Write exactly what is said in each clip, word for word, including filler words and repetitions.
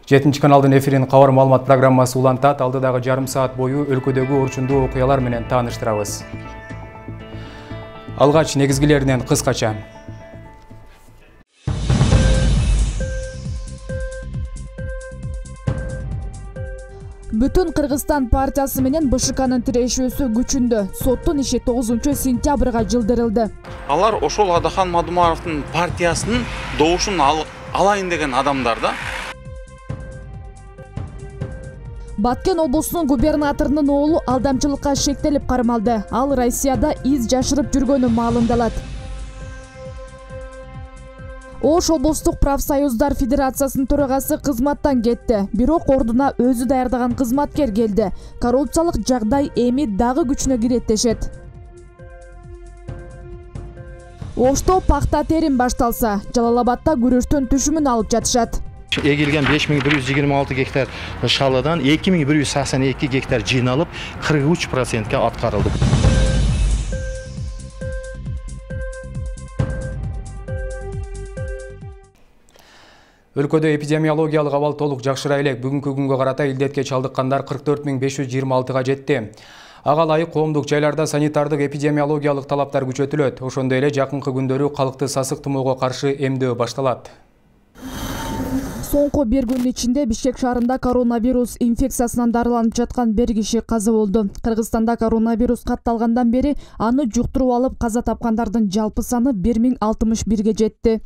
жетинчи каналдын эфирин кабар маалымат программасы улантат. Алдыдагы жарым саат бою өлкөдөгү орчундуу окуялар менен тааныштырабыз. Алгач негизгилеринен кыскача. Бүтүн Кыргызстан партиясы менен Б Ш К'нын тирешүүсү күчүндө. Соттун иши тогузунчу сентябрга жылдырылды. Алар ошол Адахан Мадумаровдун партиясынын добушун алайын деген адамдар да. Баткен облусунун губернаторунун оолу алдамчылыкка шектелип кармалды. Ал Россияда из жашырып жүргөнү маалымдалат. Ош облустук профсоюздар федерациясынын төрагасы кызматтан кетти. Бирок ордуна өзү даярдаган кызматкер келди. Коррупциялык жагдай эми дагы күчүнө кирет дешет. Ошто пакта терим башталса, Жалал Абадда күрөштөн түшүмүн алып жатышат. Эгилген беш миң бир жүз жыйырма алты гектар шалыдан эки миң бир жүз саксон эки гектар жыйналып кырк үч процентке аткарылды. Өлкөдө эпидемиологиялык абал толук жакшыра элек. Бүгүнкү күнгө карата илдетке чалдыккандар кырк төрт миң беш жүз жыйырма алтыга жетти. Ага ылайык коомдук жайларда санитардык эпидемиологиялык талаптар күчөтүлөт. Ошондой эле жакынкы күндөрү калкты сасык тумоого каршы эмдөө башталат. Соңку бир күн ичинде Бишкек шаарында коронавирус инфекциясынан дарыланып жаткан бир киши каза болду. Кыргызстанда коронавирус катталгандан бери аны жуктуруп алып каза тапкандардын жалпы саны бир миң алтымыш бирге жетти.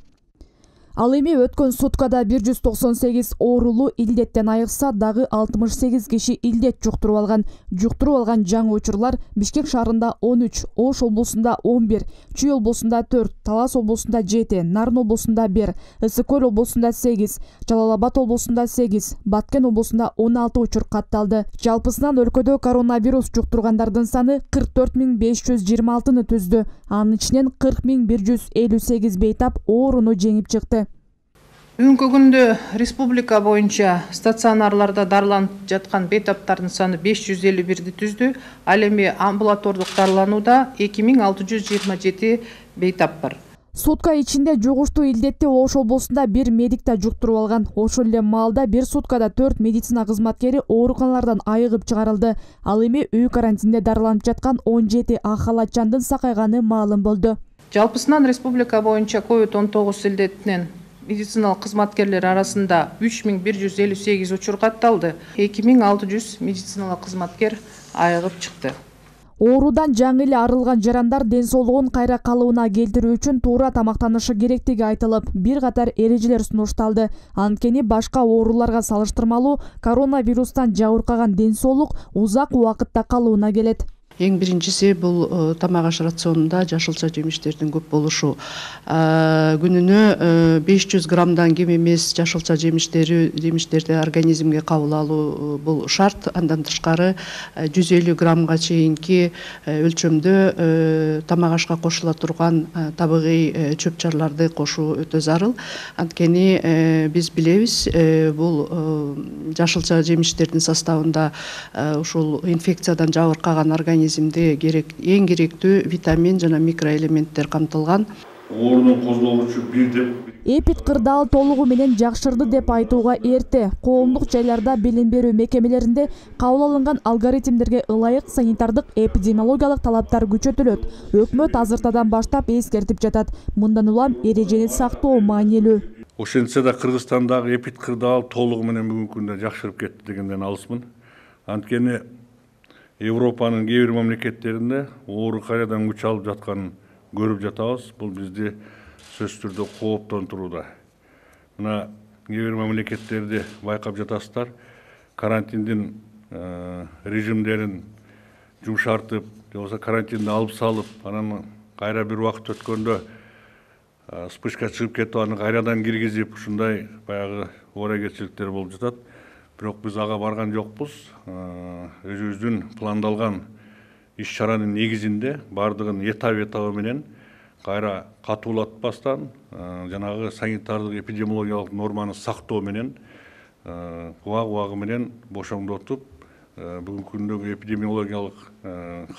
Ал эми өткөн суткада бир жүз токсон сегиз оорулуу илдеттен айыкса, дагы алтымыш сегиз киши илдет жуктуруп алган. Жуктуруп алган жаңы учурлар Бишкек шаарында он үч, Ош облусунда он бир, Чүй облусунда төрт, Талас облусунда жети, Нарын облусунда бир, Ысык көл облусунда сегиз, Жалал Абад облусунда сегиз, Баткен облусунда он алты учур катталды. Жалпысынан өлкөдө коронавирус жуктургандардын саны кырк төрт миң беш жүз жыйырма алтыны түздү. Анын ичинен кырк миң бир жүз элүү сегиз бейтап ооруну жеңип чыкты. Бүгүнкү күндө республика боюнча стационарларда дарыланып жаткан бейтаптардын саны беш жүз элүү бирди түздү. Ал эми амбулатордук дарыланууда эки миң алты жүз жыйырма жети бейтап бар. Сутка ичинде жугуштуу илдетти Ош облусунда бир медик да жуктуруп алган. Ошол эле маалда бир суткада төрт медицина кызматкери ооруканалардан айыгып чыгарылды. Ал эми үй карантинде дарыланып жаткан он жети ак халатчандын сакайганы маалым болду. Жалпысынан республика боюнча ковид он тогуз илдетинен медициналык кызматкерлер арасында үч миң бир жүз элүү сегиз учур катталды. эки миң алты жүз медициналык кызматкер айыгып чыкты. Оорудан жаңы эле арылган жарандар ден соолугун кайра калыбына келтирүү үчүн туура тамактанышы керектиги айтылып, бир катар эрежелер сунушталды. Анткени башка ооруларга салыштырмалуу коронавирустан жабыркаган ден соолук узак убакытта калыбына келет. Эң биринчиси бул тамак аш рационунда жашылча жемиштердин көп болушу. Күнүнө беш жүз граммдан кем эмес жашылча жемиштери жемиштерди организмге кабыл алуу бул шарт. Андан тышкары жүз элүү граммга чейинки өлчөмдө тамак ашка кошула турган табигый чөп чарларды кошуу өтө зарыл. Анткени биз билебиз, бул жашылча жемиштердин составында ушул инфекциядан жабыркаган организм керек эң керектүү витамин жана микроэлементтер камтылган. Оорунун козгогучу бир деп Эпид кырдаал толугу менен жакшырды деп айтууга эрте. Коомдук жайларда билим берүү мекемелеринде кабыл алынган алгоритмдерге ылайык санитардык эпидемиологиялык талаптар күчөтүлөт. Өкмөт азыртадан баштап эскертип жатат. Мындан улам эрежени сактоо маанилүү. Ошентсе да Кыргызстандагы эпид кырдаал толугу менен бүгүнкү күндө жакшырып кетти дегенден алысмын. Анткени Европанын кээ бир мамлекеттеринде оору кайрадан күч алып жатканын көрүп жатабыз. Бул бизди сөзсүз түрдө кооптонтурууда. Мына кээ бир мамлекеттерди байкап жатасыздар. Карантиндин режимдерин жумшартып, же болбосо карантинди алып салып, анан кайра бир убакыт өткөндө вспышка чыгып кетип, аны кайрадан киргизип, ушундай баягы ооракетчиликтер болуп жатат. Бирок биз ага барган жокпуз. Өзүбүздүн пландалган иш-чаранын негизинде бардыгын этап-этабы менен кайра катуулатпастан, жанагы санитардык эпидемиологиялык норманы сактоо менен убак-убагы менен бошоңдотуп, бүгүнкү күндөгү эпидемиологиялык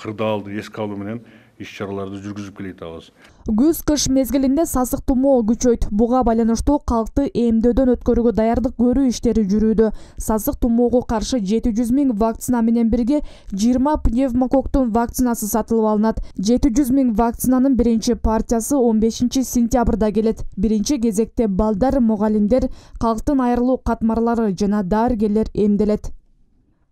кырдаалды эске алуу менен иш чараларды жүргүзүп келе жатабыз. Күз кыш мезгилинде сасык тумоо күчөйт. Буга байланыштуу калкты эмдөөдөн өткөрүүгө даярдык көрүү иштери жүрүүдө. Сасык тумоого каршы жети жүз миң вакцина менен бирге жыйырма пневмококтун вакцинасы сатылып алынат. жети жүз миң вакцинанын биринчи партиясы он бешинчи сентябрда келет. Биринчи кезекте балдар, мугалимдер, калктын айрылуу катмарлары жана дарыгерлер эмделет.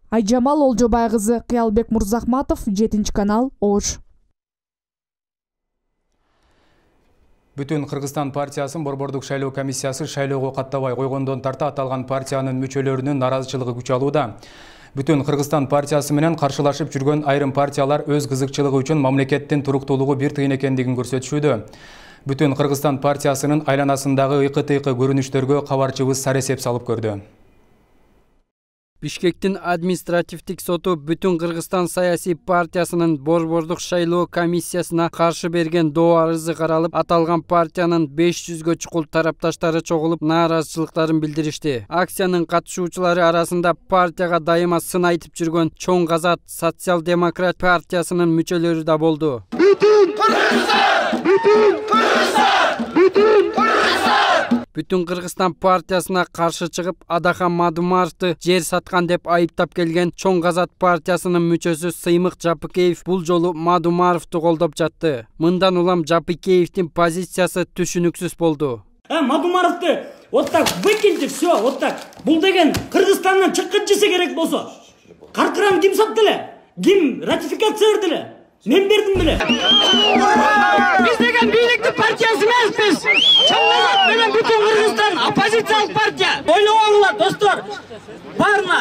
Айжамал Олжобай кызы, Кыялбек Мурзахматов, жетинчи канал, Ош. Бүтүн Кыргызстан партиясынын борбордук шайлоо комиссиясы шайлоого каттабай койгондон тарта аталган партиянын мүчөлөрүнүн наразычылыгы күч алууда. Бүтүн Кыргызстан партиясы менен каршылашып жүргөн айрым партиялар өз кызыкчылыгы үчүн мамлекеттин туруктуулугу бир тыйын экендигин көрсөтүшүүдө. Бүтүн Кыргызстан партиясынын айланасындагы ыкы-тыйкы көрүнүштөргө кабарчыбыз саресеп салып көрдү. Бишкектин административдик соту Бүтүн Кыргызстан саясий партиясынын борбордук шайлоо комиссиясына каршы берген доо арызы каралып, аталган партиянын беш жүзгө чукул тарапташтары чогулуп нааразычылыктарын билдиришти. Акциянын катышуучулары арасында партияга дайыма сын айтып жүргөн Чоң Казат социал-демократ партиясынын мүчөлөрү да болду. Бүтүн Кыргызстан! Бүтүн Кыргызстан! Бүтүн Кыргызстан! Бүтүн Кыргызстан партиясына каршы чыгып, Адахан Мадумаровду жер саткан деп айыптап келген Чоң Казат партиясынын мүчөсү Сыймык Жапыкеев бул жолу Мадумаровду колдоп жатты. Мындан улам Жапыкеевдин позициясы түшүнүксүз болду. А Мадумаровду вот так выкиньте, все, вот так. Бул деген Кыргызстандан чыккан жесе керек болсо. Каркырам ким сатты эле? Ким ратификация берди эле? Мен бердим беле. Биз деген бийликтин партиясы эмеспиз. Чоң Казат менен Бүтүн Кыргызстан оппозициялык партия. Ойлоңуңар достор. Барына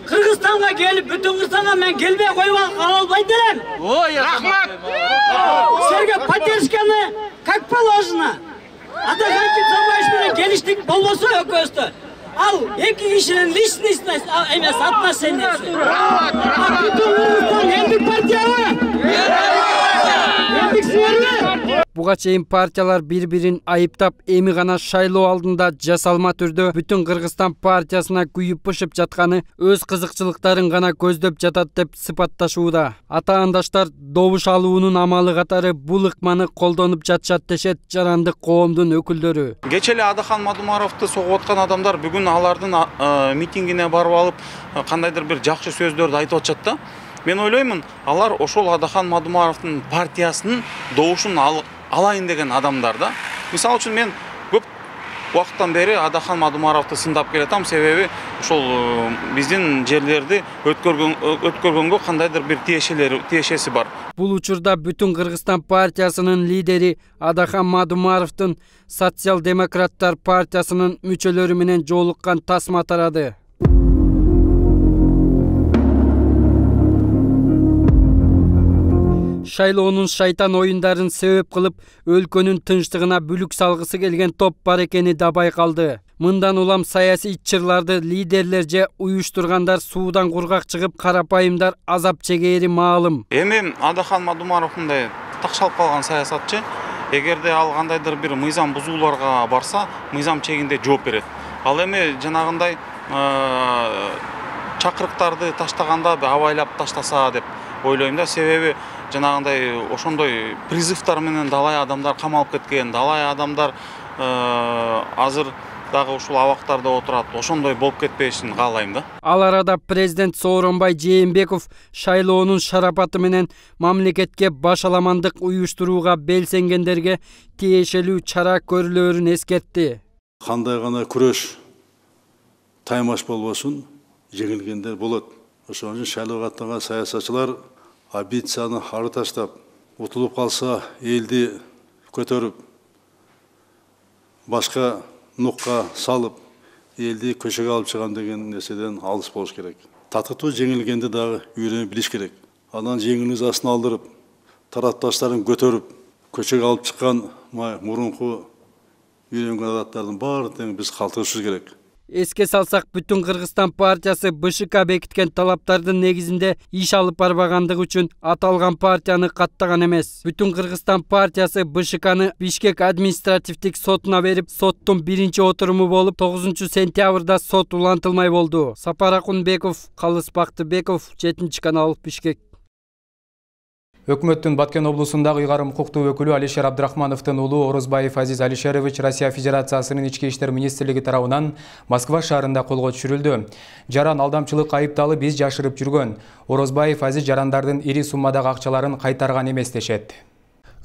Кыргызстанга келип, Бүтүн Кыргызстанга мен келбей коюп албайт элем. Ой, рахмат. Силерге поддержканы как положено. Адахан Сарбаевич менен келиштик болбосо экөөбүздө. Ал эки кишинин личностный эмес отношениясы. Бүтүн Кыргызстан элдик партиябы? Элдик силерби? Буга чейин партиялар бири-бирин айыптап, эми гана шайлоо алдында жасалма түрдө Бүтүн Кыргызстан партиясына күйүп-бышып жатканы өз кызыкчылыктарын гана көздөп жатат деп сыпатташууда. Ата-андаштар добуш алуунун амалы катары бул ыкманы колдонуп жатышат дешет жарандык коомдун өкүлдөрү. Кече эле Адахан Мадумаровду согуп аткан адамдар бүгүн алардын митингине барып алып, кандайдыр бир жакшы сөздөрдү айтып атышат да. Мен ойлоймун, алар ошол Адахан Мадумаровдун партиясынын добушун алайын деген адамдар да. Мисалы үчүн мен көп убакыттан бери Адахан Мадумаровду сындап келатам, себеби ошол биздин жерлерди өткөргөнгө кандайдыр бир тиешелери тиешеси бар. Бул учурда Бүтүн Кыргызстан партиясынын лидери Адахан Мадумаровдун социал-демократтар партиясынын мүчөлөрү менен жолуккан тасма тарады. Шайлоонун шайтан оюндарын себеп кылып, өлкөнүн тынчтыгына бүлүк салгысы келген топ бар экени да байкалды. Мындан улам саясий чырларды лидерлер же уюштургандар суудан кургак чыгып, карапайымдар азап чегери маалым. Эми Адахан Мадумаров мындай такшалып калган саясатчы, эгерде ал кандайдыр бир мыйзам бузууларга барса, мыйзам чегинде жооп берет. Ал эми жанагындай чакырыктарды таштаганда абайлап таштаса деп ойлойм да, себеби жанагындай ошондой призывтар менен далай адамдар камалып кеткен, далай адамдар азыр дагы ушул абактарда отурат, ошондой болуп кетпешин каалайм да. Ал арада президент Сооронбай Жээнбеков шайлоонун шарапаты менен мамлекетке башаламандык уюштурууга белсенгендерге тиешелүү чара көрүлөөрүн эскертти. Кандай гана күрөш таймаш болбосун, жеңилгендер болот. Ошон үчүн шайлоого аттанган саясатчылар амбицияны ары таштап, утулуп калса элди көтөрүп, башка нукка салып, элди көчөгө алып чыгам деген нерседен алыс болуш керек. Татыктуу жеңилгенди дагы үйрөнүп билиш керек. Анан жеңилиз астына алдырып, тарапташтарын көтөрүп, көчөгө алып чыккан мурунку үйрөнгөн адаттардын баарын биз калтырышыбыз керек. Эске салсак, Бүтүн Кыргызстан партиясы БШК бекиткен талаптардын негизинде иш алып барбагандыгы үчүн аталган партияны каттаган эмес. Бүтүн Кыргызстан партиясы БШКны Бишкек административдик сотуна берип, соттун биринчи отуруму болуп, тогузунчу сентябрда сот улантылмай болду. Сапар Акунбеков, Калыс Бактыбеков, жетинчи канал, Бишкек. Өкмөттүн Баткен облусундагы ыйгарым укуктуу өкүлү Алишер Абдрахмановдун уулу Орозбаев Азиз Алишерович Россия Федерациясынын ички иштер министрлиги тарабынан Москва шаарында колго түшүрүлдү. Жаран алдамчылык айыпталып биз жашырып жүргөн. Орозбаев Азиз жарандардын ири суммадагы акчаларын кайтарган эмес дешет.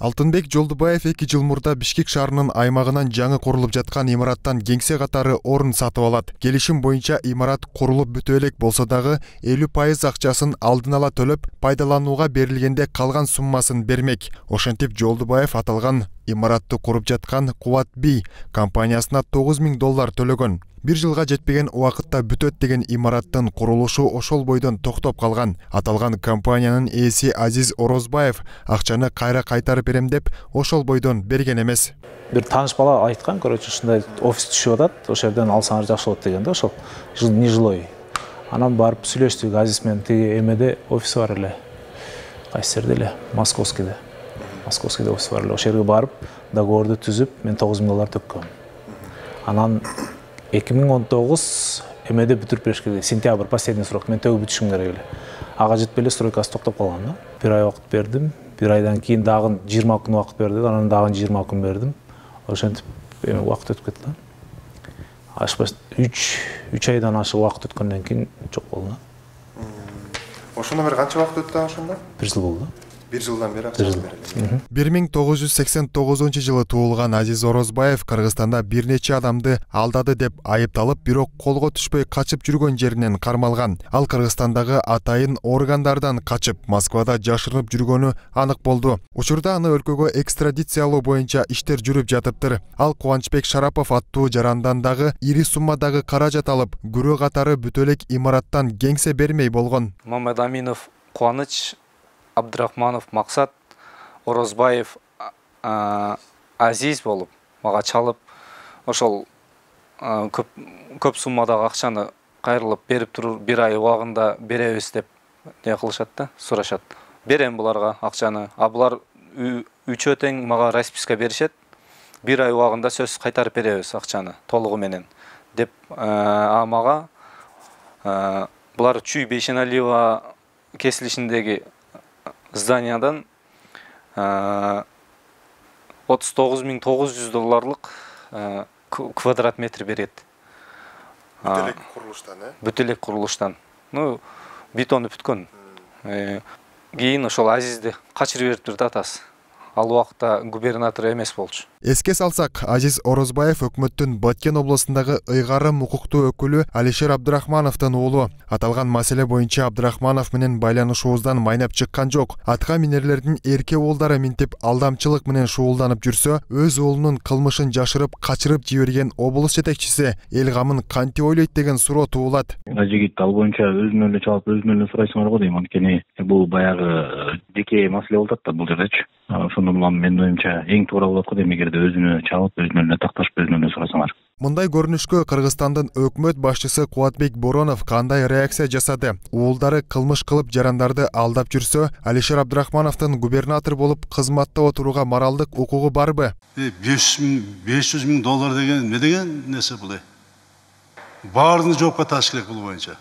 Алтынбек Жолдубаев эки жыл мурда Бишкек шаарынын аймагынан жаңы курулуп жаткан имараттан кеңсе катары орун сатып алат. Келишим боюнча имарат курулуп бүтө элек болсо дагы элүү пайыз акчасын алдын ала төлөп, пайдаланууга берилгенде калган суммасын бермек. Ошентип Жолдубаев аталган имаратты куруп жаткан Кубат Би компаниясына тогуз миң доллар төлөгөн. Бир жылга жетпеген убакытта бүтөт деген имараттын курулушу ошол бойдон токтоп калган. Аталган компаниянын ээси Азиз Орозбаев акчаны кайра кайтарып берем деп ошол бойдон берген эмес. Бир тааныш бала айткан, короче, ушундай офис түшүп атат, ошол жерден алсаңар жакшы болот деген да, ошол нежилой. Анан барып сүйлөштүк Азиз менен, тиги эмеде офиси бар эле. Кайсы жерде эле? Московскийде. Московскийде офис бар эле. Ошол жерге барып, договорду түзүп, мен тогуз миң доллар төккөм. Анан эки миң он тогуз эмеде бүтүрүп бериш керек. Сентябрь последний срок, мен төгүп бүтүшүм керек эле. Ага жетпей эле стройкасы токтоп калган да. Бир ай убакыт бердим. Бир айдан кийин дагы жыйырма күн убакыт берди, анан дагы жыйырма күн бердим. Ошентип убакыт өтүп кетти да. Ашпас үч айдан ашык убакыт өткөндөн кийин жок болду. Ошондон бери канча убакыт өттү ошондо? Бир жыл болду. Бир жылдан бери акча берилди. бир миң тогуз жүз сексен тогузунчу жылы туулган Азиз Орозбаев Кыргызстанда бир нече адамды алдады деп айыпталып, бирок колго түшпөй качып жүргөн жеринен кармалган. Ал Кыргызстандагы атайын органдардан качып, Москвада жашырып жүргөнү анык болду. Учурда аны өлкөгө экстрадициялоо боюнча иштер жүрүп жатыптыр. Ал Кубанычбек Шарапов аттуу жарандан дагы ири суммадагы каражат алып, күрөө катары бүтө элек имараттан кеңсе бермей болгон. Мамедаминов Кубаныч, Абдрахманов Максат, Орозбаев Азиз болуп мага чалып, ошол көп көп суммадагы акчаны кайрылып берип турур, бир ай убагында беребиз деп не кылышат да, сурашат. Берем буларга акчаны. А булар үчөө тең мага расписка беришет. Бир ай убагында сөз кайтарып беребиз акчаны толугу менен деп, а мага булар Чүй Бейшеналиева кесилишиндеги зданиядан отуз тогуз миң тогуз жүз долларлык квадрат метр берет. Бүтө элек курулуштан, э? Бүтө элек курулуштан. Ну, бетону бүткөн. Кийин ошол Азизди качырып бериптир да атасы. Ал убакта губернатор эмес болчу. Эске салсак, Азиз Орозбаев өкмөттүн Баткен облусундагы ыйгарым укуктуу өкүлү Алишер Абдрахмановдун уулу. Аталган маселе боюнча Абдрахманов менен байланышуубуздан майнап чыккан жок. Атка минерлердин эрке уулдары минтип алдамчылык менен шуулданып жүрсө, өз уулунун кылмышын жашырып, качырып жиберген облус жетекчиси эл камын кантип ойлойт деген суроо туулат. Жигит ал боюнча өзүнөн эле чалып, өзүнөн эле сурайсыңар го дейм. Анткени бул баягы жеке маселе болот да бул жердечи. Ошондон улам менин оюмча эң туура болот го дейм, эгерде өзүнө чалып, өзүнөн эле такташып, өзүнөн эле сурасаңар. Мындай көрүнүшкө Кыргызстандын өкмөт башчысы Кубатбек Боронов кандай реакция жасады? Уулдары кылмыш кылып жарандарды алдап жүрсө, Алишер Абдрахмановдун губернатор болуп кызматта отурууга моралдык укугу барбы? беш жүз миң доллар деген не деген нерсе бул? Баарын жоопко тартыш керек бул боюнча.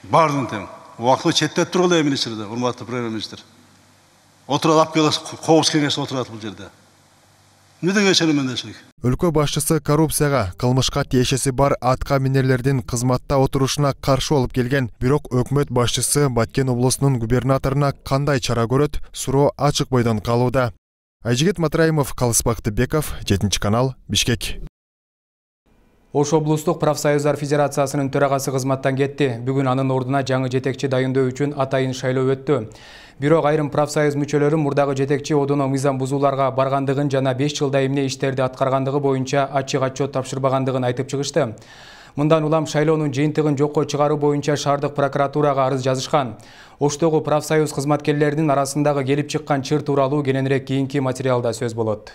Баарын тең. Убактылуу четтеп тургула министрде, урматтуу премьер-министр. Отурат алып келип, кобуз кеңеште отурат бул жерде. Өлкө башчысы коррупцияга, кылмышка тиешеси бар атка минерлердин кызматта отурушуна каршы болуп келген. Бирок өкмөт башчысы Баткен облусунун губернаторуна кандай чара көрөт? Суроо ачык бойдон калууда. Айжигит Матраимов, Калысбак Беков, жетинчи канал, Бишкек. Ош облустук профсоюздар федерациясынын төрагасы кызматтан кетти. Бүгүн анын ордуна жаңы жетекчи дайындоо үчүн атайын шайлоо өттү. Бирок айрым профсоюз мүчөлөрү мурдагы жетекчи одуно мыйзам бузууларга баргандыгын жана беш жылда эмне иштерди аткаргандыгы боюнча ачык отчет тапшырбагандыгын айтып чыгышты. Мындан улам шайлоонун жыйынтыгын жокко чыгаруу боюнча шаардык прокуратурага арыз жазышкан. Оштогу профсоюз кызматкерлеринин арасындагы келип чыккан чыр тууралуу кененирээк кийинки материалда сөз болот.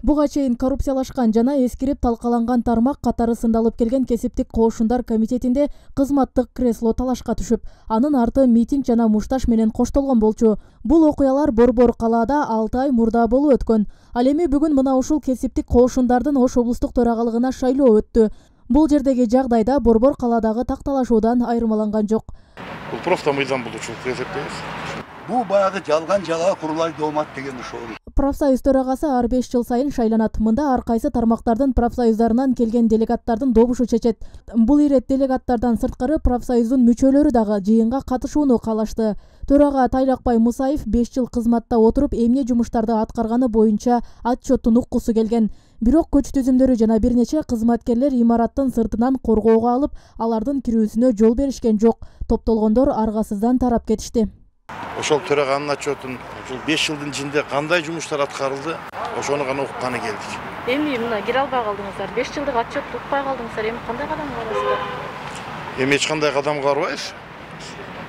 Буга чейин коррупциялашкан жана эскирип талкаланган тармак катары сындалып келген кесиптик коошундар комитетинде кызматтык кресло талашка түшүп, анын арты митинг жана мушташ менен коштолгон болчу. Бул окуялар Борбор калаада алты ай мурда болуп өткөн. Ал эми бүгүн мына ушул кесиптик коошундардын Ош облустук төрагалыгына шайлоо өттү. Бул жердеги жагдайда борбор каладагы такталашуудан айырмаланган жок. Бул просто мыйзам бузуучулук деп эсептейбиз. Бул баягы жалган жалаа курулай доомат деген ошол. Профсоюз төрагасы ар беш жыл сайын шайланат. Мында ар кайсы тармактардын профсоюздарынан келген делегаттардын добушу чечет. Бул ирет делегаттардан сырткары профсоюздун мүчөлөрү дагы жыйынга катышууну каалашты. Төрага Тайлакбай Мусаев беш жыл кызматта отуруп, эмне жумуштарды аткарганы боюнча отчеттун уккусу келген. Бирок көч түзүмдөрү жана бир нече кызматкерлер имараттын сыртынан коргоого алып, алардын кирүүсүнө жол беришкен жок. Топтолгондор аргасыздан тарап кетишти. Ошол төраганын отчетун ушул беш жылдын ичинде кандай жумуштар аткарылды, ошону гана укканы келдик. Эми мына кире албай калдыңыздар. беш жылдык отчетту укпай калдыңыздар. Эми кандай кадам аласыздар? Эми эч кандай кадам карабайбыз.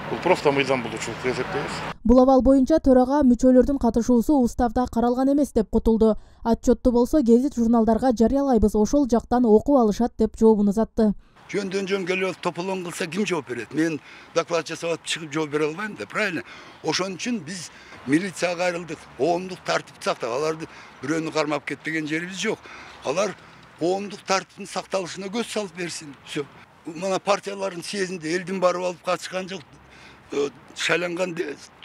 Бул просто мыйзам бузуучулук деп эсептейбиз. Бул абал боюнча төрага мүчөлөрдүн катышуусу уставда каралган эмес деп кутулду. Отчетту болсо гезит журналдарга жарыялайбыз, ошол жактан окуп алышат деп жообун узатты. Жөндөн жөн келип тополон кылса ким жооп берет? Мен доклад жасап чыгып жооп бере албайм да, правильно? Ошон үчүн биз милицияга кайрылдык, коомдук тартипти сактап, аларды бирөөнү кармап кетпеген жерибиз жок. Алар коомдук тартиптин сакталышына көз салып берсин. Всё. Мына партиялардын съездинде элдин барып алып катышкан жок. Шайланган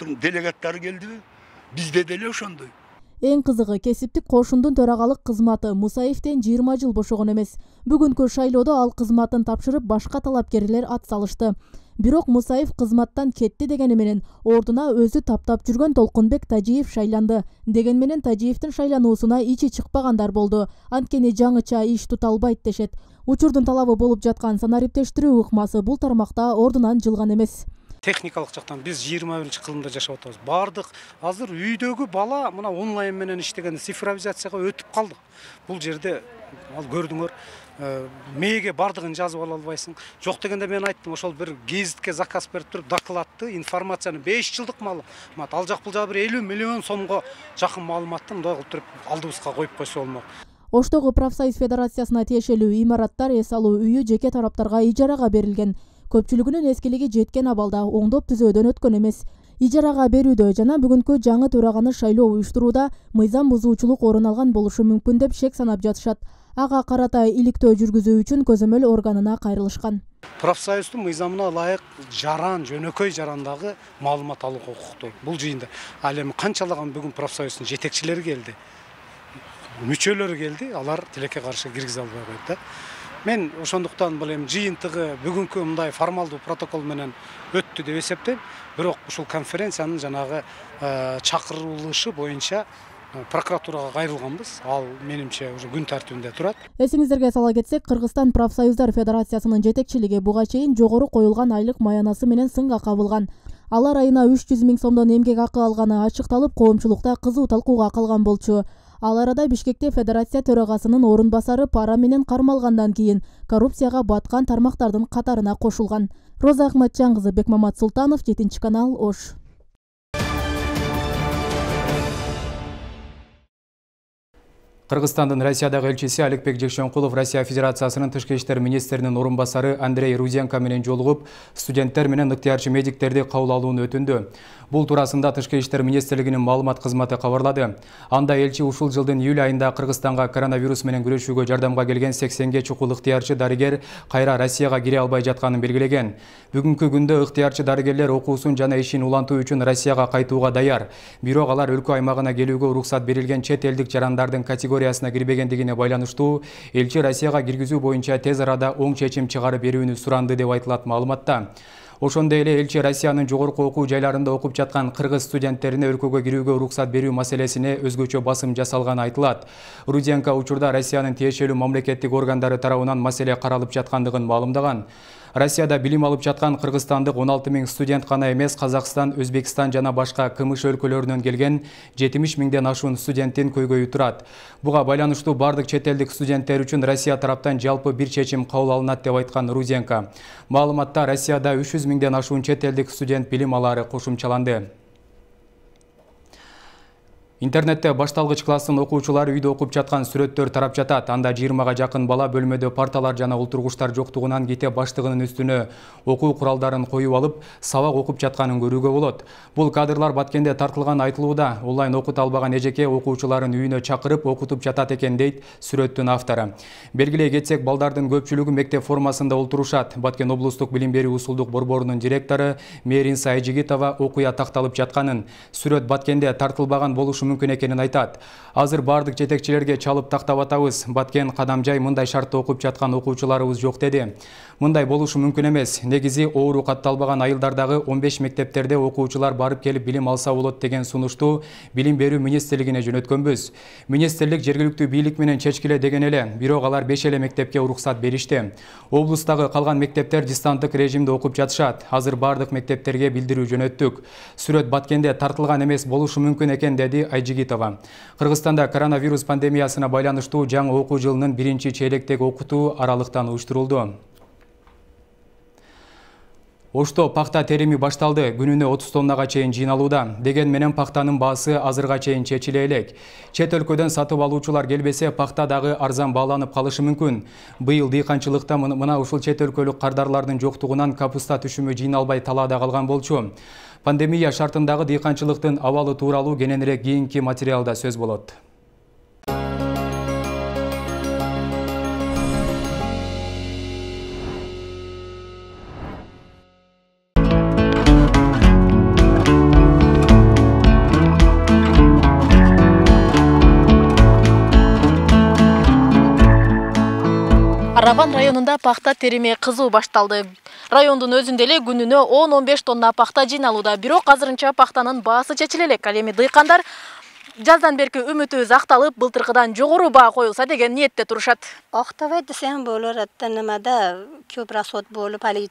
делегаттары келдиби? Бизде деле ошондой. Эң кызыгы, кесиптик кошундун төрагалык кызматы Мусаевден жыйырма жыл бошогон эмес. Бүгүнкү шайлоодо ал кызматын тапшырып, башка талапкерлер ат салышты. Бирок Мусаев кызматтан кетти дегени менен ордуна өзү таптап жүргөн Толкунбек Тажиев шайланды. Деген менен Тажиевдин шайлануусуна ичи чыкпагандар болду. Анткени жаңыча иш тута албайт дешет. Учурдун талабы болуп жаткан санариптештирүү ыкмасы бул тармакта ордунан жылган эмес. Техникалык жактан биз жыйырма биринчи кылымда жашап атабыз. Бардык азыр үйдөгү бала мына онлайн менен иштеген цифровизацияга өтүп калдык. Бул жерде ал көрдүңөр, мээге бардыгын жазып ала албайсың. Жок дегенде мен айттым, ошол бир гезитке заказ берип туруп, докладты, информацияны беш жылдык маалымат, ал жак бул жагы бир элүү миллион сомго жакын маалыматты мындай кылып туруп алдыбызга коюп койсо болмок. Оштогу профсоюз федерациясына тиешелүү имараттар эс алуу үйү жеке тараптарга ижарага берилген. Көпчүлүгүнүн эскилиги жеткен абалда оңдоп түзөөдөн өткөн эмес. Ижарага берүүдө жана бүгүнкү жаңы төраганы шайлоо уюштурууда мыйзам бузуучулук орун алган болушу мүмкүн деп шек санап жатышат. Ага карата иликтөө жүргүзүү үчүн көзөмөл органына кайрылышкан. Профсоюздун мыйзамына ылайык жаран, жөнөкөй жарандагы маалымат алууга укуктуу. Бул жыйында ал эми канчалаган бүгүн профсоюздун жетекчилери келди, мүчөлөрү келди, алар тилекке каршы киргизе албай койду да. Мен ошондуктан бул эми жыйынтыгы бүгүнкү мындай формалдуу протокол менен өттү деп эсептейм. Бирок ушул конференциянын жанагы чакырылышы боюнча прокуратурага кайрылганбыз. Ал менимче уже күн тартибинде турат. Эсиңиздерге сала кетсек, Кыргызстан профсоюздар федерациясынын жетекчилиги буга чейин жогору коюлган айлык маянасы менен сынга кабылган. Алар айына үч жүз миң сомдон эмгек акы алганы ачыкталып, коомчулукта кызуу талкууга калган болчу. Ал арада Бишкекте федерация төрагасынын орун басары пара менен кармалгандан кийин коррупцияга баткан тармактардын катарына кошулган. Роза Ахматжан кызы, Бекмамат Султанов, жетинчи канал, Ош. Кыргызстандын Россиядагы элчиси Аликбек Жекшенкулов Россия Федерациясынын тышкы иштер министринин орун басары Андрей Руденко менен жолугуп, студенттер менен ыктыярчы медиктерди кабыл алууну өтүндү. Бул туурасында Тышкы иштер министрлигинин маалымат кызматы кабарлады. Анда элчи ушул жылдын июль айында Кыргызстанга коронавирус менен күрөшүүгө жардамга келген сексенге чукул ыктыярчы дарыгер кайра Россияга кире албай жатканын белгилеген. Бүгүнкү күндө ыктыярчы дарыгерлер окуусун жана ишин улантуу үчүн Россияга кайтууга даяр. Бирок алар өлкө аймагына келүүгө уруксат берилген чет элдик жарандардын категориясына кирбегендигине байланыштуу элчи Россияга киргизүү боюнча тез арада оң чечим чыгарып берүүнү суранды деп айтылат маалыматта. Ошондой эле элчи Россиянын жогорку окуу жайларында окуп жаткан кыргыз студенттерине өлкөгө кирүүгө уруксат берүү маселесине өзгөчө басым жасалганы айтылат. Руденко учурда Россиянын тиешелүү мамлекеттик органдары тарабынан маселе каралып жаткандыгын маалымдаган. Россияда билим алып жаткан кыргызстандык он алты миң студент гана эмес, Казакстан, Өзбекстан жана башка КМШ өлкөлөрүнөн келген жетимиш миңден ашуун студенттин көйгөйү турат. Буга байланыштуу бардык чет элдик студенттер үчүн Россия тараптан жалпы бир чечим кабыл алынат деп айткан Руденко. Маалыматта Россияда үч жүз миңден ашуун чет элдик студент билим алары кошумчаланды. Интернетте башталгыч класстын окуучулары үйдө окуп жаткан сүрөттөр тарап жатат. Анда жыйырмага жакын бала бөлмөдө парталар жана олтургучтар жоктугунан кете баштыгынын үстүнө окуу куралдарын коюп алып, сабак окуп жатканын көрүүгө болот. Бул кадрlar Баткенде тартылган айтылууда. Онлайн окута албаган эжеке окуучуларын үйүнө чакырып окутуп жатат экен дейт сүрөттүн автору. Белгилей кетсек, балдардын көпчүлүгү мектеп формасында олтурушат. Баткен облустук билим берүү усулдук борборунун директору Мээринса Айжигитова окуя такталып жатканын, сүрөт Баткенде тартылбаган болушу мүмкүн экенин айтат. Азыр бардык жетекчилерге чалып тактап атабыз. Баткен Кадамжай мындай шартта окуп жаткан окуучуларыбыз жок деди. Мындай болушу мүмкүн эмес. Негизи оору катталбаган айылдардагы он беш мектептерде окуучулар барып келип билим алса болот деген сунушту билим берүү министрлигине жөнөткөнбүз. Министрлик жергиликтүү бийлик менен чечкиле деген эле, бирок алар беш эле мектепке уруксат беришти. Облустагы калган мектептер дистанттык режимде окуп жатышат. Азыр бардык мектептерге билдирүү жөнөттүк. Сүрөт Баткенде тартылган эмес болушу мүмкүн экен деди Айжигитова. Кыргызстанда коронавирус пандемиясына байланыштуу жаңы окуу жылынын биринчи чейлектеги окутуу аралыктан уюштурулду. Ошто пакта терими башталды, күнүнө отуз тоннага чейин жыйналууда. Деген менен пактанын баасы азырга чейин чечиле элек. Чет өлкөдөн сатып алуучулар келбесе, пакта дагы арзан бааланып калышы мүмкүн. Быйыл дыйканчылыкта мына ушул чет өлкөлүк кардарлардын жоктугунан капуста түшүмү жыйналбай талаада калган болчу. Пандемия шартындагы дыйканчылыктын абалы тууралуу кененирээк кийинки материалда сөз болот. Арабан районунда пахта терими кызуу башталды. Райондун өзүндө эле күнүнө он он беш тонна пахта жыйналууда. Бирок азырынча пахтанын баасы чечиле элек. Ал эми дыйкандар жаздан берки үмүтүбүз акталып, былтыркыдан жогору баа коюлса деген ниетте турушат. Актабайт десем болот, немада көп расход болуп, али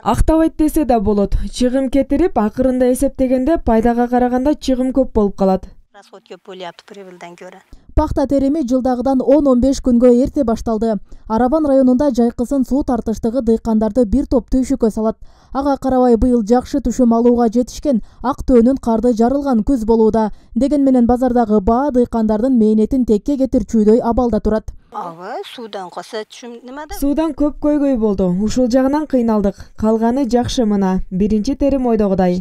актабайт десе да болот. Чыгым кетирип, акырында эсептегенде пайдага караганда чыгым көп болуп калат. Расход көп болуп прибылдан көрө. Пахта терими жылдагыдан он он беш күнгө эрте башталды. Арабан районунда жайкысын суу тартыштыгы дыйкандарды бир топ түйшүккө салат. Ага карабай быйыл жакшы түшүм алууга жетишкен, ак төөнүн карды жарылган күз болууда. Деген менен базардагы баа дыйкандардын мээнетин текке кетирчүүдөй абалда турат. Ага, суудан коса түшүм немада? Суудан көп көйгөй болду. Ушул жагынан кыйналдык. Калганы жакшы мына. Биринчи терим ойдогудай.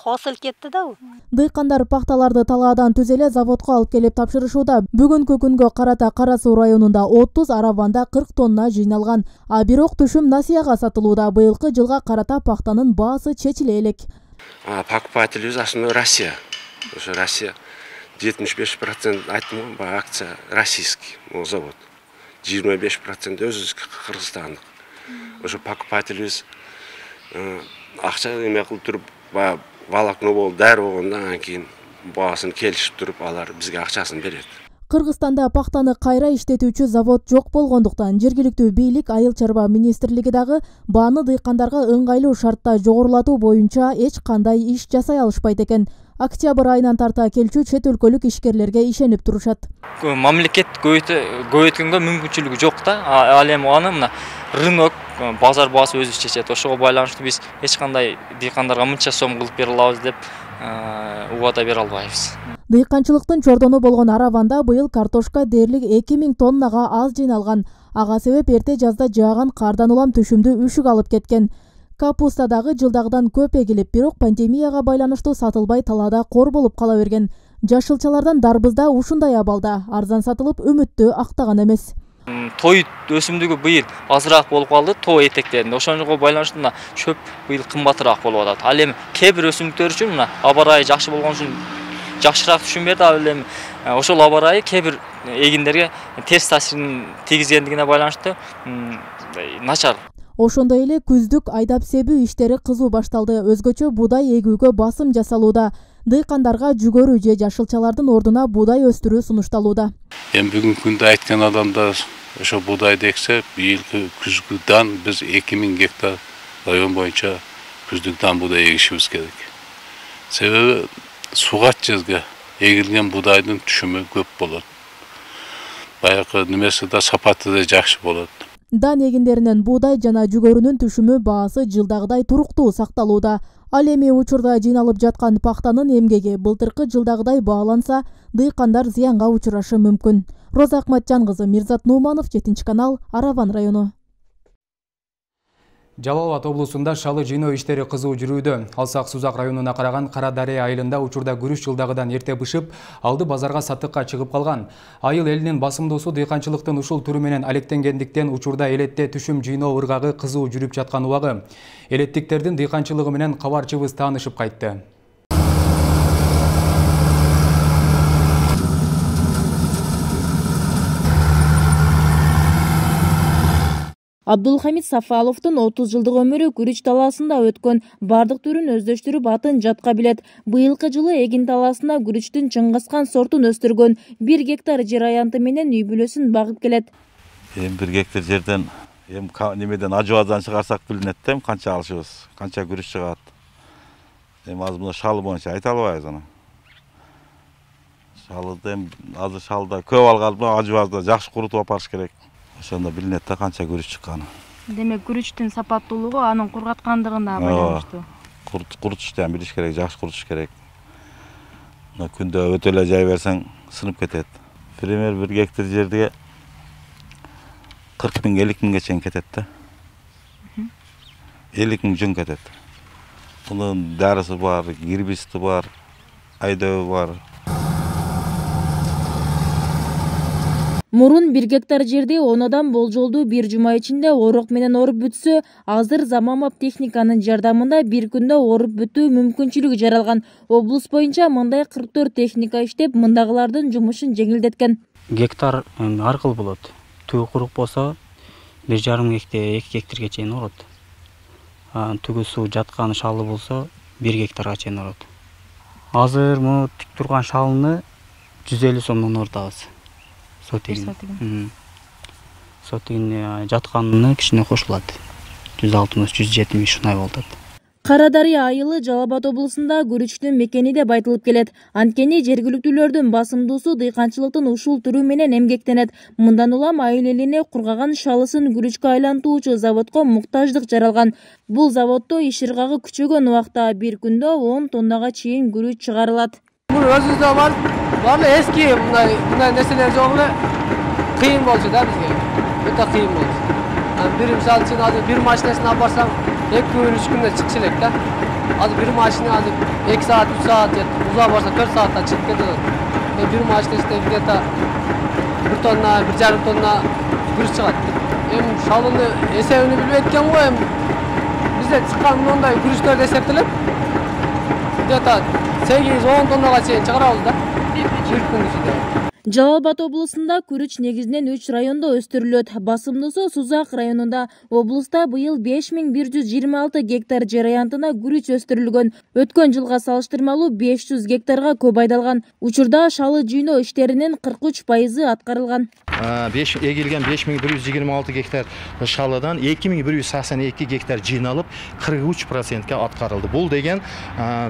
Хосыл кетти да. Дыйкандар пахталарды талаадан түзеле заводко алып келип тапшырышууда. Бүгүнкү күнгө карата Кара Суу районунда отуз, Арабанда кырк тонна жыйналган. А бирок түшүм насыяга сатылууда. Быйылкы жылга карата пахтанын баасы чечиле элек. Покупатель основной Россия. Ошо Россия жетимиш беш процент айттым го, акция российский завод. жыйырма беш процент өзүбүздүкү кыргызстандык. Ошо покупательибиз акча эме кылып туруп, волокно болуп, дары болгондо анан кийин баасын келишип туруп, алар бизге акчасын берет. Кыргызстанда пахтаны кайра иштетүүчү завод жок болгондуктан жергиликтүү бийлик Айыл чарба министрлиги дагы бааны дыйкандарга ыңгайлуу шартта жогорулатуу боюнча эч кандай иш жасай алышпайт экен. Октябрь айынан тарта келчү чет өлкөлүк ишкерлерге ишенип турушат. Мамлекет көбөйткөнгө мүмкүнчүлүгү жок да. Ал эми аны мына рынок, базар баасы өзү чечет. Ошого байланыштуу биз эч кандай дыйкандарга мынча сом кылып бере алабыз деп убада бере албайбыз. Дыйканчылыктын чордону болгон Арабанда быйыл картошка дээрлик эки миң тоннага аз жыйналган. Ага себеп эрте жазда жааган кардан улам түшүмдү үшүк алып кеткен. Капуста дагы жылдагыдан көп эгилип, бирок пандемияга байланыштуу сатылбай талаада кор болуп кала берген. Жашылчалардан дарбыз да ушундай абалда, арзан сатылып үмүттү актаган эмес. Той өсүмдүгү быйыл азыраак болуп калды, той этектеринде. Ошонго байланыштуу мына чөп быйыл кымбатыраак болуп атат. Ал эми кээ бир өсүмдүктөр үчүн мына аба ырайы жакшы болгон үчүн жакшыраак түшүм берди. Ал эми ошол аба ырайы кээ бир эгиндерге терс таасирин тийгизгендигине байланыштуу начар. Ошондой эле күздүк айдап себүү иштери кызуу башталды. Өзгөчө буудай эгүүгө басым жасалууда. Дыйкандарга жүгөрү же жашылчалардын ордуна буудай өстүрүү сунушталууда. Эми бүгүнкү күндө айткан адамдар ошо буудайды эксе, быйылкы күзгү дан биз эки миң гектар район боюнча күздүк дан буудай эгишибиз керек. Себеби сугат жерге эгилген буудайдын түшүмү көп болот. Баягы немеси да сапаты да жакшы болот. Дан эгиндеринен буудай жана жүгөрүнүн түшүмү баасы жылдагыдай туруктуу сакталууда. Ал эми учурда жыйналып жаткан пактанын эмгеги былтыркы жылдагыдай бааланса, дыйкандар зыянга учурашы мүмкүн. Роза Акматжан кызы, Мирзат Нуманов, жетинчи канал, Арабан району. Жалал Абад облусунда шалы жыйноо иштери кызуу жүрүүдө. Алсак Сузак районуна караган Кара Дарыя айылында учурда күрүч жылдагыдан эрте бышып, алды базарга сатыкка чыгып калган. Айыл элинин басымдуусу дыйканчылыктын ушул түрү менен алектенгендиктен учурда элетте түшүм жыйноо ыргагы кызуу жүрүп жаткан убагы. Элеттиктердин дыйканчылыгы менен кабарчыбыз таанышып кайтты. Абдулхамид Сафаловдун отуз жылдык өмүрү күрүч талаасында өткөн. Бардык түрүн өздөштүрүп атын жатка билет. Быйылкы жылы эгин талаасында күрүчтүн Чыңгызкан сортун өстүргөн. Бир гектар жер аянты менен үй бүлөсүн багып келет. Эми бир гектар жерден эми немеден ажыбаздан чыгарсак билинет да, канча алышыбыз, канча күрүч чыгат. Эми азыр мына шалы боюнча айта албайбыз аны. Шалыды эми азыр шалда көп алганды ажыбазда жакшы курутуп алып барыш керек. Ошондо билинет да канча күрүч чыкканы. Демек күрүчтүн сапаттуулугу анын кургаткандыгына байланыштуу. Курутушту ham билиш керек, жакшы курутуш керек. Мына күндө өтө эле жай берсең сынып кетет. Пример бир гектар жерге кырк миң элүү миңге чейин кетет да. элүү миң жөн кетет. Мунун дарысы бар, гербисти бар, айдабы бар. Мурун бир гектар жерде он адам болжолду бир жума ичинде орок менен оруп бүтсө, азыр заманбап техниканын жардамында бир күндө оруп бүтүү мүмкүнчүлүгү жаралган. Облус боюнча мындай кырк төрт техника иштеп, мындагылардын жумушун жеңилдеткен. Гектар ар кыл болот. Түгү курук болсо бир жарым гектар, эки гектарга чейин орот. Түгү суу жаткан шалы болсо бир гектарга чейин орот. Азыр му тик турган шалыны жүз элүү сомдон орутабыз. Сотигин. Сотигин жатканына кичине кошулат. жүз алтымыш жүз жетимиш ушундай болот. Кара Дарыя айылы Жалал Абад облусунда күрүчтүн мекени деп айтылып келет. Анткени жергиликтүүлөрдүн басымдуусу дыйканчылыктын ушул түрү менен эмгектенет. Мындан улам айыл элине кургаган шалысын күрүчкө айлантуучу заводко муктаждык жаралган. Бул заводдо иш ыргагы күчөгөн убакта бир күндө он тоннага чейин күрүч чыгарылат. Бул өзүбүздө бар, баары эски мындай мындай нерселер жок эле. Кыйын болчу да бизге. Өтө кыйын болчу. Бир мисалы үчүн азыр бир машинесин алып барсаң, эки үч күндө чыкчу элек да. Азыр бир машина азыр эки саат, үч саат же узак барса төрт саатта чыгып кетет. Мен бир машинесинде где-то бир тонна, бир жарым тонна күрүч чыгат. Эми шалыны эсебин билбейт экен го, эми бизде чыккан мындай күрүчтөр эсептелип, где-то сегиз он тоннага чейин чыгарабыз да. Бир күн ичинде. Жалал Абад облусунда күрүч негизинен үч райондо өстүрүлөт. Басымдуусу Сузак районунда. Облуста быйыл беш миң бир жүз жыйырма алты гектар жер аянтына күрүч өстүрүлгөн. Өткөн жылга салыштырмалуу беш жүз гектарга көп айдалган. Учурда шалы жыйноо иштеринин кырк үч пайызы аткарылган. Эгилген беш миң бир жүз жыйырма алты гектар шалыдан эки миң бир жүз саксон эки гектар жыйналып кырк үч процентке аткарылды. Бул деген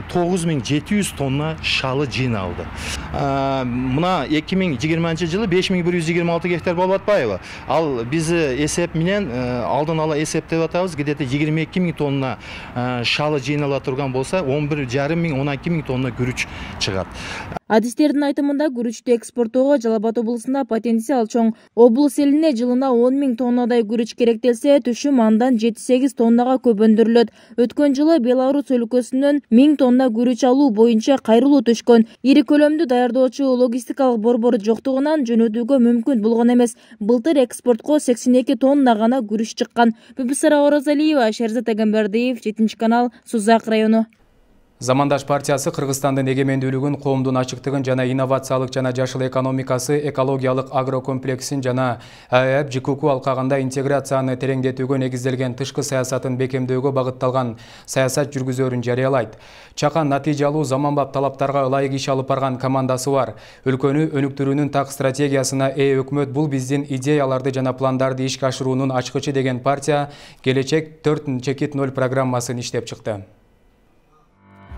тогуз миң жети жүз тонна шалы жыйналды. Мына эки миң жыйырманчы жылы беш миң бир жүз жыйырма алты гектар болуп атпайбы? Ал биз эсеп менен алдын ала эсептеп атабыз, где-то жыйырма эки миң тонна шалы жыйнала турган болса, он бир жарым миң он эки миң тонна күрүч чыгат. Адистердин айтымында күрүчтү экспорттоого Жалал Абад облусунда потенциал чоң. Облус элине жылына он миң тоннадай күрүч керектелсе, түшүм андан жети сегиз тоннага көп өндүрүлөт. Өткөн жылы Беларусь өлкөсүнөн миң тонна күрүч алуу боюнча кайрылуу түшкөн. Ири көлөмдүү даярдоочу логистикалык борбор жоктугунан жөнөтүүгө мүмкүн болгон эмес. Былтыр экспортко сексен эки тонна гана күрүч чыккан. Бүбүсара Оразалиева, Шерзат Агамбердиев, жетинчи канал, Сузак району. Замандаш партиясы Кыргызстандын эгемендүүлүгүн, коомдун ачыктыгын жана инновациялык жана жашыл экономикасы, экологиялык агрокомплексин жана АЭБ ЖКУ алкагында интеграцияны тереңдетүүгө негизделген тышкы саясатын бекемдөөгө багытталган саясат жүргүзөөрүн жарыялайт. Чакан натыйжалуу заманбап талаптарга ылайык иш алып барган командасы бар. Өлкөнү өнүктүрүүнүн так стратегиясына ээ өкмөт бул биздин идеяларды жана пландарды ишке ашыруунун ачкычы деген партия келечек төрт чекит ноль программасын иштеп чыкты.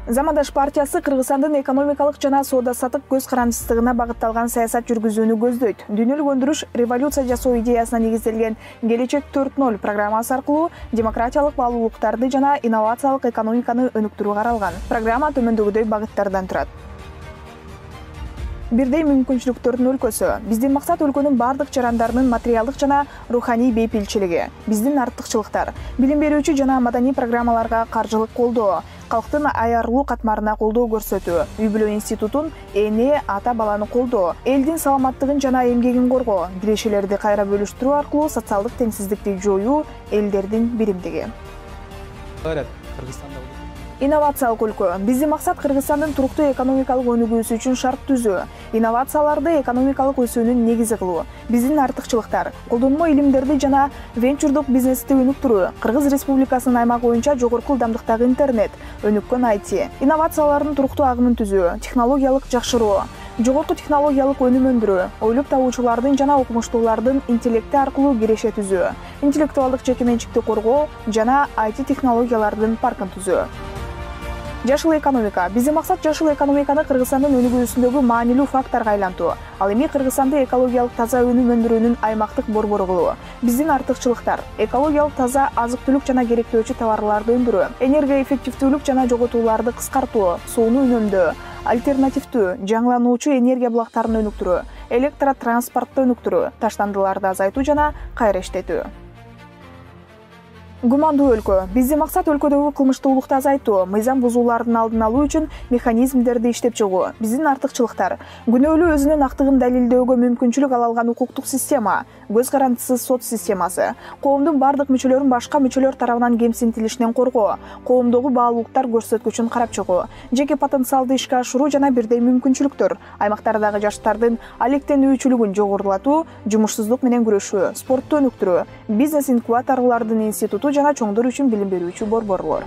Замандаш партиясы Кыргызстандын экономикалык жана соода-саттык көз карандысыздыгына багытталган саясат жүргүзүүнү көздөйт. Дүйнөлүк өндүрүш революция жасоо идеясына негизделген Келечек төрт ноль программасы аркылуу демократиялык баалуулуктарды жана инновациялык экономиканы өнүктүрүү каралган. Программа төмөндөгүдөй багыттардан турат. Бирдей мүмкүнчүлүктөрдүн өлкөсү. Биздин максат өлкөнүн бардык жарандарынын материалдык жана руханий бейпилчилиги. Биздин артыкчылыктар: билим берүүчү жана маданий программаларга каржылык колдоо, калктын аярлуу катмарына колдоо көрсөтүү, үй-бүлө институтун, эне, ата баланы колдоо, элдин саламаттыгын жана эмгегин коргоо, кирешелерди кайра бөлүштүрүү аркылуу социалдык теңсиздикти жоюу, элдердин биримдиги. Инновациялык өлкө. Биздин максат Кыргызстандын туруктуу экономикалык өнүгүүсү үчүн шарт түзүү, инновацияларды экономикалык өсүүнүн негизи кылуу. Биздин артыкчылыктар: колдонмо илимдерди жана венчурдук бизнести өнүктүрүү, Кыргыз Республикасынын аймагы боюнча жогорку ылдамдыктагы интернет, өнүккөн ай ти, инновациялардын туруктуу агымын түзүү, технологиялык жакшыруу, жогорку технологиялык өнүм өндүрүү, ойлоп табуучулардын жана окумуштуулардын интеллекти аркылуу киреше түзүү, интеллектуалдык жекеменчикти коргоо жана ай ти технологиялардын паркын түзүү. Жашыл экономика. Биздин максат жашыл экономиканы Кыргызстандын өнүгүүсүндөгү маанилүү факторго айлантуу. Ал эми Кыргызстанды экологиялык таза өнүм өндүрүүнүн аймактык борбору кылуу. Биздин артыкчылыктар: экологиялык таза азык-түлүк жана керектөөчү товарларды өндүрүү, энергоэффективдүүлүк жана жоготууларды кыскартуу, сууну үнөмдөө, альтернативдүү, жаңылануучу энергия булактарын өнүктүрүү, электротранспортду өнүктүрүү, таштандыларды азайтуу жана кайра иштетүү. Гумандуу өлкө. Биздин максат өлкөдөгү кылмыштуулукту азайтуу, мыйзам бузуулардын алдын алуу үчүн механизмдерди иштеп чыгуу. Биздин артыкчылыктар: күнөөлүү өзүнүн актыгын далилдөөгө мүмкүнчүлүк ала алган укуктук система, көз карандысыз сот системасы, коомдун бардык мүчөлөрүн башка мүчөлөр тарабынан кемсинтилишинен коргоо, коомдогу баалуулуктар көрсөткүчүн карап чыгуу, жеке потенциалды ишке ашыруу жана бирдей мүмкүнчүлүктөр, аймактардагы жаштардын алектенүүчүлүгүн жогорулатуу, жумушсуздук менен күрөшүү, спортту өнүктүрүү, бизнес инкубаторлордун институту жана чоңдор үчүн билим берүүчү борборлор.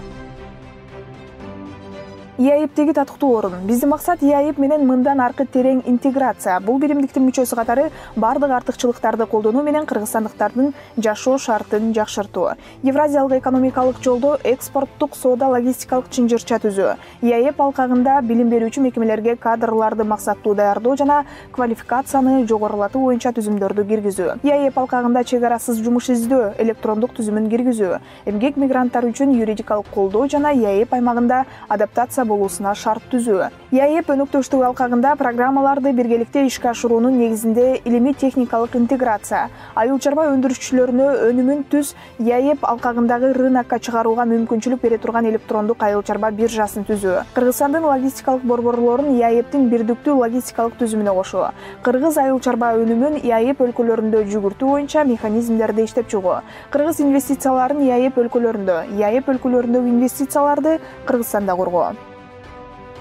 и а и п'теги татыктуу орун. Биздин максат и а и пэ менен мындан аркы терең интеграция. Бул биримдиктин мүчөсү катары бардык артыкчылыктарды колдонуу менен кыргызстандыктардын жашоо шартын жакшыртуу. Евразиялык экономикалык жолдо экспорттук соода логистикалык чынжырча түзүү. и а и пэ алкагында билим берүүчү мекемелерге кадрларды максаттуу даярдоо жана квалификацияны жогорулатуу боюнча түзүмдөрдү киргизүү. и а и пэ алкагында чек арасыз жумуш издөө электрондук түзүмүн киргизүү. Эмгек мигранттары үчүн юридикалык колдоо жана и а и пэ аймагында адаптация болуусуна шарт түзүү. и а и пэ өнөктөштүк алкагында программаларды биргеликте ишке ашыруунун негизинде илимий техникалык интеграция, айыл чарба өндүрүшчүлөрүнө өнүмүн түз и а и пэ алкагындагы рынокко чыгарууга мүмкүнчүлүк бере турган электрондук айыл чарба биржасын түзүү. Кыргызстандын логистикалык борборлорун и а и п'тин бирдиктүү логистикалык түзүмүнө кошуу. Кыргыз айыл чарба өнүмүн и а и пэ өлкөлөрүндө жүгүртүү боюнча механизмдерди иштеп чыгуу. Кыргыз инвестицияларын и а и пэ өлкөлөрүндө, и а и пэ өлкөлөрүндөгү инвестицияларды Кыргызстанда коргоо.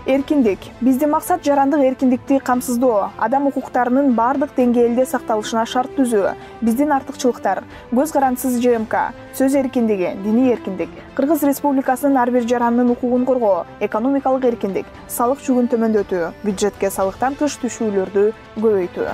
Эркиндик. Биздин максат жарандык эркиндикти камсыздоо, адам укуктарынын бардык деңгээлде сакталышына шарт түзүү. Биздин артыкчылыктар: көз карандысыз же эм ка, сөз эркиндиги, диний эркиндик, Кыргыз Республикасынын ар бир жаранынын укугун коргоо, экономикалык эркиндик, салык жүгүн төмөндөтүү, бюджетке салыктан тыш түшүүлөрдү көбөйтүү.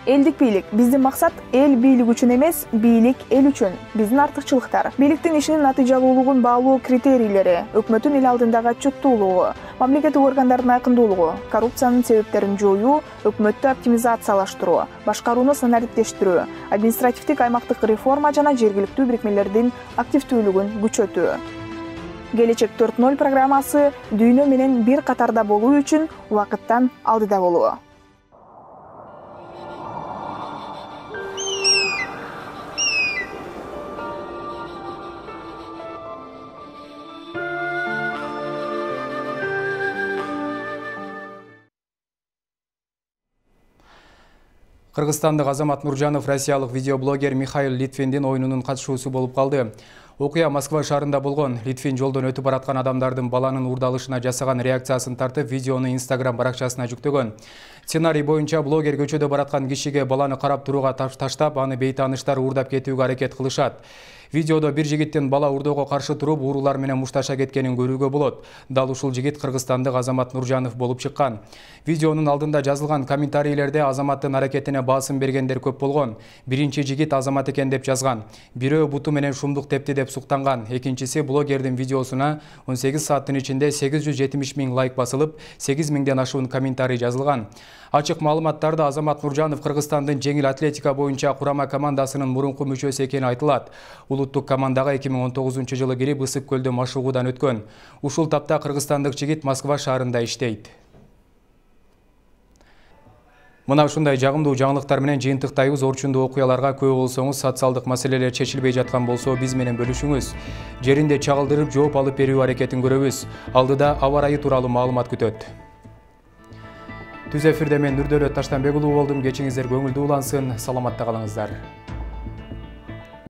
Элдик бийлик. Биздин максат эл бийлик үчүн эмес, бийлик эл үчүн. Биздин артыкчылыктар: бийликтин ишинин натыйжалуулугун баалоо критерийлери, өкмөттүн эл алдындагы отчеттуулугу, мамлекеттик органдардын айкындуулугу, коррупциянын себептерин жоюу, өкмөттү оптимизациялаштыруу, башкарууну санариптештирүү, административдик аймактык реформа жана жергиликтүү бирикмелердин активдүүлүгүн күчөтүү. Келечек төрт ноль программасы дүйнө менен бир катарда болуу үчүн убакыттан алдыда болуу. Кыргызстандык Азамат Нуржанов россиялык видеоблогер Михаил Литвиндин оюнунун катышуусу болуп калды. Окуя Москва шаарында болгон. Литвин жолдон өтүп бараткан адамдардын баланын уурдалышына жасаган реакциясын тартып, видеону Instagram баракчасына жүктөгөн. Сценарий боюнча блогер көчөдө бараткан кишиге баланы карап турууга таштап, аны бейтааныштар уурдап кетүүгө аракет кылышат. Видеодо бир жигиттин бала уурдоого каршы туруп, уурулар менен мушташа кеткенин көрүүгө болот. Дал ушул жигит кыргызстандык Азамат Нуржанов болуп чыккан. Видеонун алдында жазылган комментарийлерде Азаматтын аракетине баасым бергендер көп болгон. Биринчи жигит Азамат экен деп жазган. Бирөө буту менен шумдук тепти деп деп суктанган. Экинчиси блогердин видеосуна он сегиз сааттын ичинде сегиз жүз жетимиш миң лайк басылып, сегиз миңден ашуун комментарий жазылган. Ачык маалыматтарда Азамат Нуржанов Кыргызстандын жеңил атлетика боюнча курама командасынын мурунку мүчөсү экени айтылат. Улуттук командага эки миң он тогузунчу жылы кирип Ысык көлдө машыгуудан өткөн. Ушул тапта кыргызстандык жигит Москва шаарында иштейт. Мына ушундай жагымдуу жаңылыктар менен жыйынтыктайбыз. Орчундуу окуяларга күбө болсоңуз, социалдык маселелер чечилбей жаткан болсо биз менен бөлүшүңүз. Жеринде чагылдырып жооп алып берүү аракетин көрөбүз. Алдыда аба ырайы тууралуу маалымат күтөт. Түз эфирде мен Нурдөлөт Таштанбек уулу болдум. Кечиңиздер көңүлдүү улансын. Саламатта калыңыздар.